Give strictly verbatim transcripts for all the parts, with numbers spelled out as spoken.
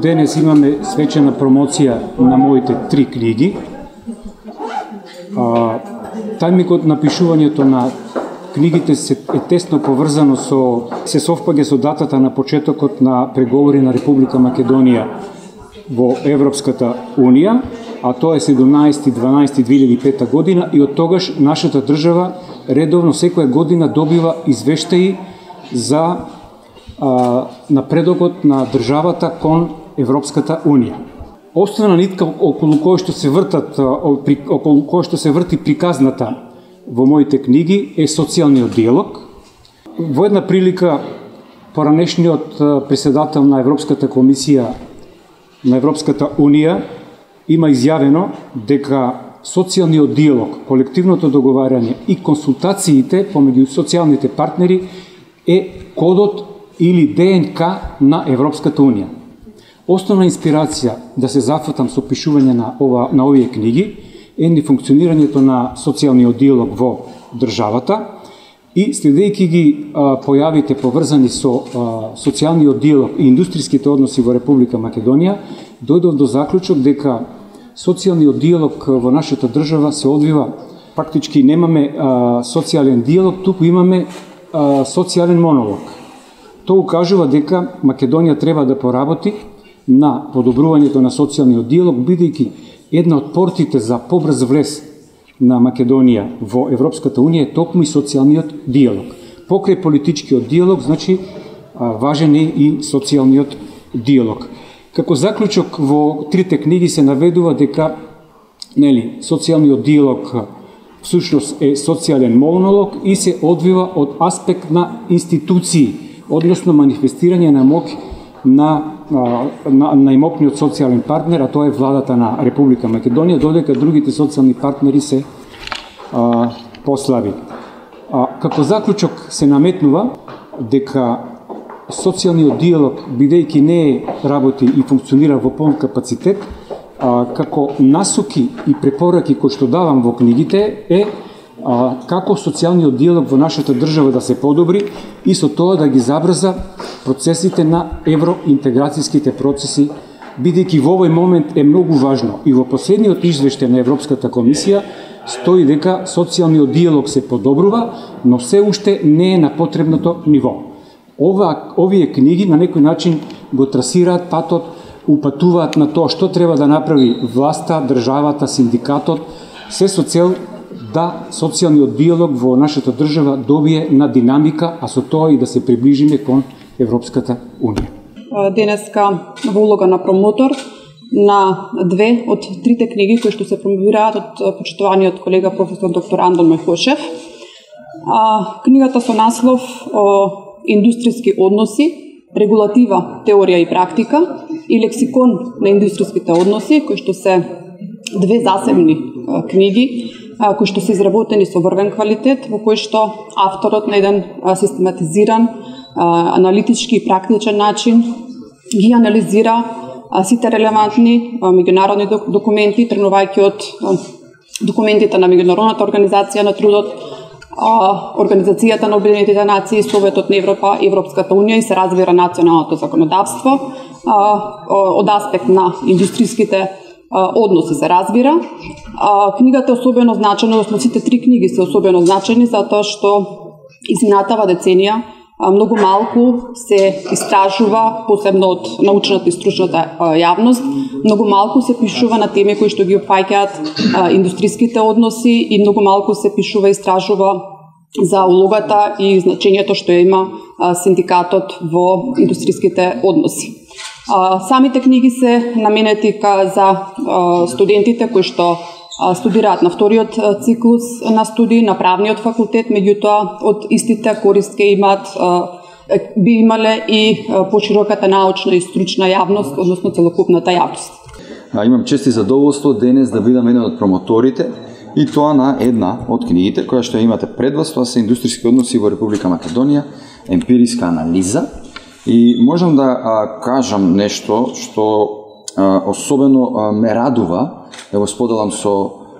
денес имаме свечена промоција на моите три книги. А, тајмикот на пишувањето на книгите се е тесно поврзано со се совпаѓа со датата на почетокот на преговори на Република Македонија во Европската Унија, а тоа е седумнаесети дванаесети две илјади и пета година, и од тогаш нашата држава редовно секоја година добива извештаи за а, напредокот на државата кон Европската Унија. Основна нитка околу која што се вртат околу која што се врти приказната во моите книги е социјалниот диалог. Во една прилика поранешниот председател на Европската комисија на Европската Унија има изјавено дека социјалниот диалог, колективното договарање и консултациите помеѓу социјалните партнери е кодот или ДНК на Европската Унија. Основна инспирација да се зафатам со пишување на ова на овие книги е ни функционирањето на социјалниот диалог во државата и следејќи ги а, појавите поврзани со а, социјалниот диалог и индустријските односи во Република Македонија, дојдов до заклучок дека социјалниот диалог во нашата држава се одвива, практички немаме а, социјален диалог, туку имаме а, социјален монолог. Тоа укажува дека Македонија треба да поработи на подобрувањето на социјалниот диалог, бидејќи една од портите за побрз влез на Македонија во Европската Унија е токму и социјалниот диалог. Покрај политичкиот диалог, значи, важен е и социјалниот диалог. Како заклучок во трите книги се наведува дека нели, социјалниот диалог всушност е социјален монолог и се одвива од аспект на институции, односно манифестирање на моќ на, на, на имокниот социјален партнер, а тоа е владата на Република Македонија, додека другите социјални партнери се а, послаби. А, како заклучок се наметнува дека социјалниот диалог, бидејќи не работи и функционира во полн капацитет, а, како насоки и препораки кои што давам во книгите е а, како социјалниот диалог во нашата држава да се подобри и со тоа да ги забрза процесите на евроинтеграцијските процеси, бидејќи во овој момент е многу важно и во последниот извештај на Европската комисија стои дека социјалниот диалог се подобрува, но се уште не е на потребното ниво. Ова, овие книги на некој начин го трасираат патот, упатуваат на тоа што треба да направи власта, државата, синдикатот, се со цел да социјалниот диалог во нашата држава добие на динамика, а со тоа и да се приближиме кон Европската Унија. Денеска во улога на промотор на две од трите книги кои што се промовираат од почитуваниот колега професор доктор Андон Мехошев. Книгата со наслов Индустријски односи, регулатива, теорија и практика и лексикон на индустријските односи, кои што се две засебни книги, кои што се изработени со врвен квалитет, во кои што авторот на еден систематизиран, аналитички и практичен начин ги анализира сите релевантни меѓународни документи, тргнувајќи од документите на Меѓународната организација на трудот, Организацијата на Обединетите нации, Советот на Европа, Европската Унија и се развира националното законодавство од аспект на индустријските односи се разбира. Книгата е особено значена, односно сите три книги се особено значени затоа што изминатава деценија многу малку се истражува, посебно од научната и стручната јавност, многу малку се пишува на теми кои што ги опфаќаат индустријските односи и многу малку се пишува и истражува за улогата и значењето што има синдикатот во индустријските односи. Самите книги се наменети за студентите кои што студираат на вториот циклус на студии на правниот факултет, меѓутоа од истите корист ке имаат би имале и пошироката научна и стручна јавност, односно целокупната јавност. Имам чест и задоволство денес да бидам еден од промоторите и тоа на една од книгите која што имате пред вас, тоа се Индустријски односи во Република Македонија, емпириска анализа. И можам да а, кажам нешто што а, особено а, ме радува, да го споделам со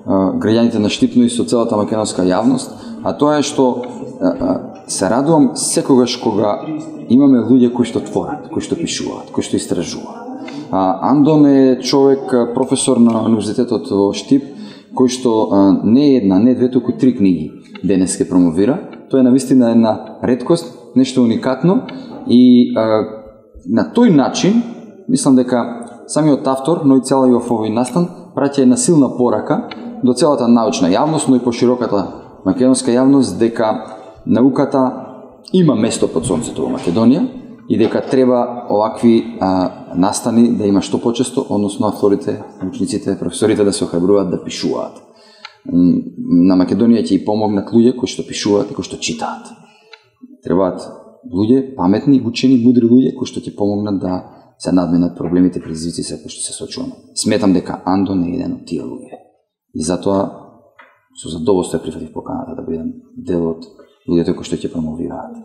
а, граѓаните на Штипно и со целата македонска јавност, а тоа е што а, а, се радувам секогаш кога имаме луѓе кои што творат, кои што пишуваат, кои што истражуваат. А, Андон е човек, професор на Универзитетот во Штип, кој што а, не една, не две, туку три книги денес ке промовира. Тоа е навистина една реткост, нешто уникатно и а, на тој начин, мислам дека самиот автор, но и целиот овој настан, праќа една силна порака до целата научна јавност, но и пошироката македонска јавност, дека науката има место под сонцето во Македонија и дека треба овакви а, настани да има што почесто, односно авторите, учениците, професорите да се охрабруваат да пишуваат. На Македонија ќе и помогнат луѓе кои што пишуваат и кои што читаат. Требаат луѓе, паметни, учени, мудри луѓе кои што ќе помогнат да се надменат проблемите, предизвици се кои што се соочуваме. Сметам дека Андон е еден од тие луѓе. И затоа со задоволство ја прифатив поканата да бидам дел од луѓето кои што ќе промовираат.